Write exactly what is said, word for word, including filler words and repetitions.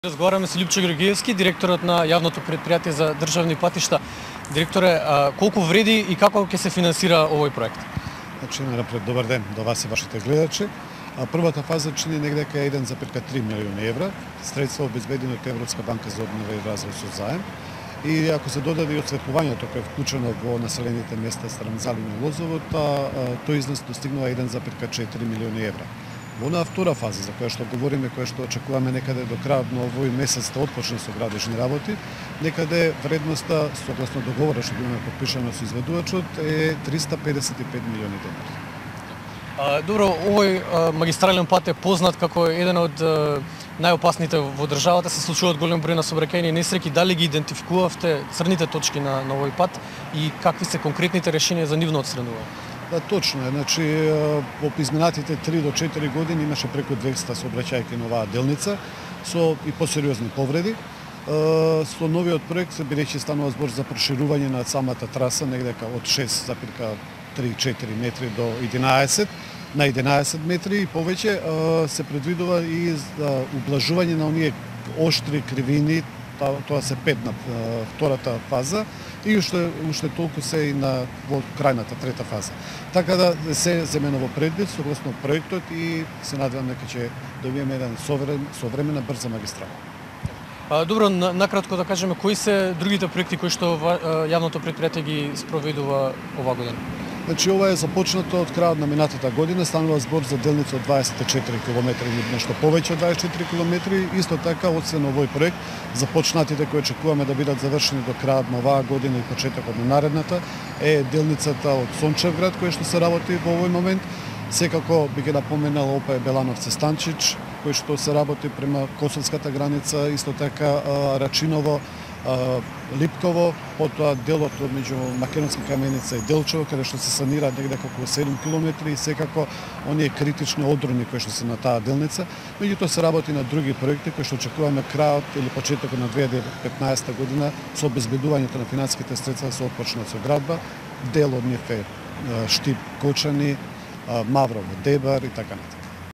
Разговараме со Љупчо Георгиевски, директорот на јавното претпријатие за државни патишта. Директоре, колку вреди и како ќе се финансира овој проект? Значи, напред, добар ден до вас и вашите гледачи. Првата фаза чини негде кај еден зарез три милиони евра, средства обезбедени од Европска банка за обнова и развој со заем. И ако се додаде и осветлувањето кој е вклучено во населените места Старамзалин и Лозово, тој износ достигнува еден зарез четири милиони евра. Во онаа втора фаза за која што говориме, која што очекуваме некаде до крајот на овој месец да отпочне со градежни работи, некаде вредноста согласно договорот што имаме подпишано со изведувачот е триста педесет и пет милиони денари. А, добро, овој а, магистрален пат е познат како еден од а, најопасните во државата, се случуваат голем број на сообраќајни несреќи. Дали ги идентификувавте црните точки на, на овој пат и какви се конкретните решенија за нивно отстранување? Да, точно е. Значи, во изминатите три до четири години имаше преку двеста сообраќајки на оваа делница со и посериозни повреди. Со новиот проект се бидејќи станува збор за проширување на самата траса негдека од шест зарез три четири метри до единаесет на единаесет метри и повеќе, се предвидува и ублажување на оние оштри кривини. Тоа се пет на втората фаза и уште уште толку се и на во крајната трета фаза. Така да се земено во предвид согласно проектот и се надевам дека ќе добиеме еден современ, современа брза магистрала. А, добро, накратко да кажеме кои се другите проекти кои што јавното претпријатие ги спроведува оваа година? Значи, ова е започнато од крајот на минатата година, станува збор за делница од дваесет и четири километри или нешто повеќе од дваесет и четири километри. Исто така, освен овој проект, започнатите кои очекуваме да бидат завршени до крајот на оваа година и почетокот на наредната е делницата од Сончевград, која што се работи во овој момент. Секако би ги напоменал опа е Белановци Станчич, кој што се работи према косовската граница, исто така Рачиново, Липково, потоа делот меѓу Македонска Каменица и Делчево, каде што се санира негде околу седум километри и секако оние критични одрони кои што се на таа делница. Меѓутоа се работи на други проекти кои што очекуваме крајот или почетокот на две илјади и петнаесета година со обезбедувањето на финансиските средства да се отпочнат со градба. Дел од нив е Штип Кочани, Маврово Дебар и така натаму.